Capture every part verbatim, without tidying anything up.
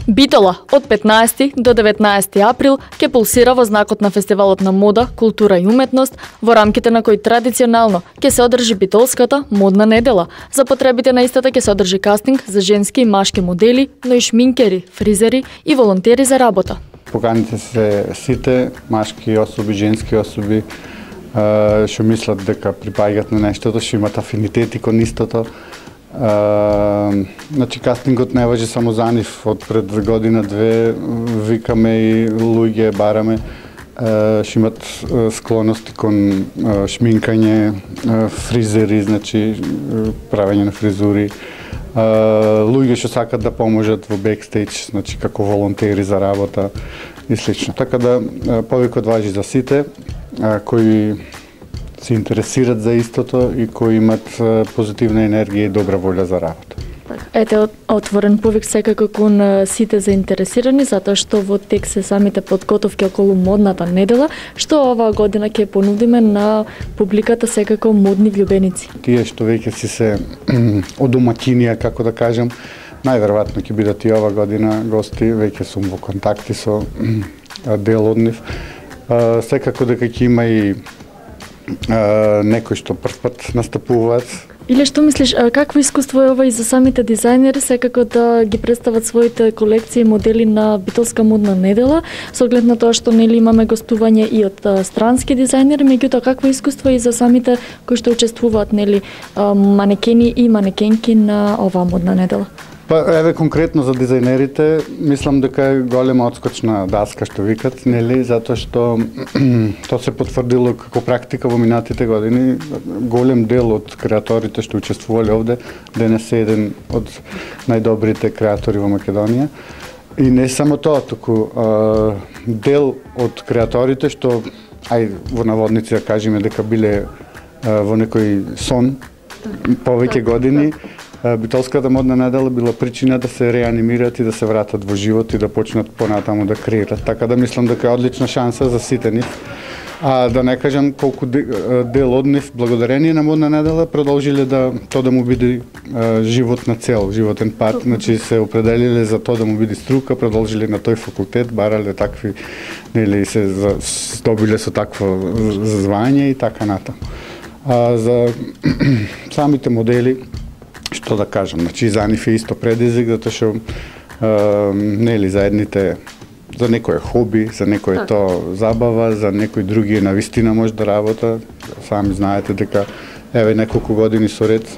Битола од петнаесети до деветнаесети април ќе пулсира во знакот на фестивалот на мода, култура и уметност, во рамките на кој традиционално ќе се одржи Битолската модна недела. За потребите на истата ќе се одржи кастинг за женски и машки модели, но и шминкери, фризери и волонтери за работа. Поканите се сите машки особи, женски особи, што мислат дека припаѓаат на нештото, што имат афинитети кон истото. Uh, значи кастингот не важи само за нив, од пред година-две викаме и луѓе бараме uh, што имат uh, склоности кон uh, шминкање, uh, фризери, значи uh, правење на фризури, uh, луѓе што сакат да поможат во бекстејдж, значи како волонтери за работа и слично. Така да uh, повикот важи за сите uh, кои се интересират за истото и кои имат позитивна енергија и добра волја за работа. Ете, отворен повик секако кон сите заинтересирани, затоа што во тек се самите подготовки околу модната недела, што оваа година ќе понудиме на публиката секако модни влюбеници. Тие што веќе си се одомаќинија, како да кажам, најверојатно ќе бидат и ова година гости, веќе сум во контакти со дел од нив. Секако дека ќе има и Uh, некои што прв пат настапуваат. Или што мислиш, какво искуство е ова и за самите дизајнери секако да ги представат своите колекции и модели на Битолска модна недела, со оглед на тоа што нели имаме гостување и од а, странски дизајнери, меѓутоа какво искуство и за самите кои што учествуваат нели а, манекени и манекенки на оваа модна недела? Па еве конкретно за дизајнерите, мислам дека е голема одскочна даска што викат, нели, затоа што тоа се потврдило како практика во минатите години. Голем дел од креаторите што учествувале овде денес е еден од најдобрите креатори во Македонија. И не само тоа, туку а, дел од креаторите што ај во наводници да кажеме дека биле а, во некој сон повеќе години. Битолската модна недела била причина да се реанимираат и да се вратат во живот и да почнат понатаму да креират. Така да мислам дека е одлична шанса за сите нив. А да не кажам колку дел од нив, благодарение на модна недела, продолжиле да тоа да му биде а, живот на цел, животен пат, значи се определиле за тоа да му биде струка, продолжиле на тој факултет, барале такви, нели се здобиле со такво звање и така натаму. А за самите модели, што да кажам, значи за нив е исто предизвик, затоа што нели за едните за некој е хоби, за некој е тоа забава, за некој други е навистина може да работа. Сами знаете дека еве неколку години со ред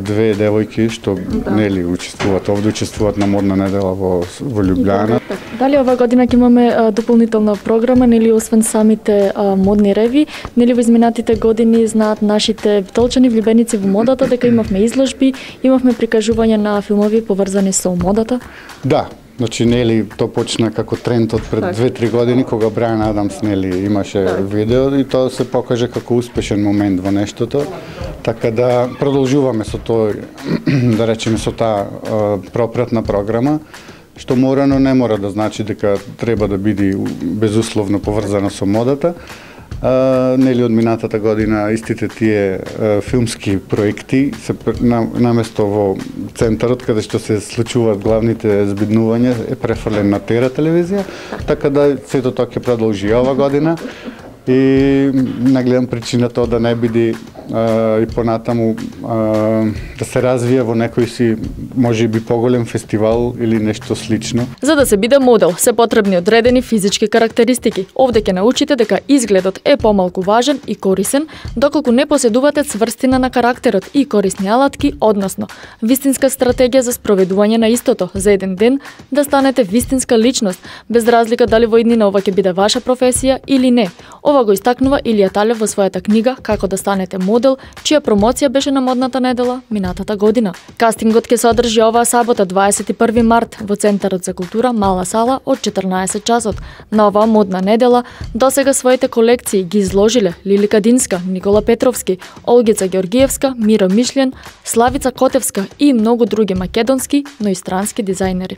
две девојки што да. нели учествуваат овде, учествуваат на модна недела во во Љубљана. Дали оваа година ќе имаме а, дополнителна програма, нели освен самите а, модни реви, нели во изминатите години знаат нашите битолчани влюбеници во модата дека имавме изложби, имавме прикажување на филмови поврзани со модата? Да. Значи, нели, тоа почна како тренд од пред две-три години, кога Брайан Адамс, нели, имаше видео и тоа се покаже како успешен момент во нештото. Така да продолжуваме со тој, да речеме, со таа пропратна програма, што мора, но не мора да значи дека треба да биде безусловно поврзано со модата. Uh, нели од минатата година истите тие uh, филмски проекти се на, наместо во центарот каде што се случуваат главните збиднувања е префрлен на Тера телевизија, така да сето тоа ќе продолжи ова година и не гледам причина тоа да не биде uh, и понатаму uh, да се развие во некој си можеби поголем фестивал или нешто слично. За да се биде модел се потребни одредени физички карактеристики. Овде ќе научите дека изгледот е помалку важен и корисен, доколку не поседувате цврстина на карактерот и корисни алатки, односно вистинска стратегија за спроведување на истото, за еден ден да станете вистинска личност, без разлика дали во иднина ова ќе биде ваша професија или не. Ова го истакнува Илија Талев во својата книга Како да станете модел, чија промоција беше на модната недела минатата година. Кастингот ќе се одржи оваа сабота дваесет и први март во Центарот за култура Мала сала од четрнаесет часот. На оваа модна недела досега своите колекции ги изложиле Лили Кадинска, Никола Петровски, Олгица Георгиевска, Миро Мишлен, Славица Котевска и многу други македонски, но и странски дизајнери.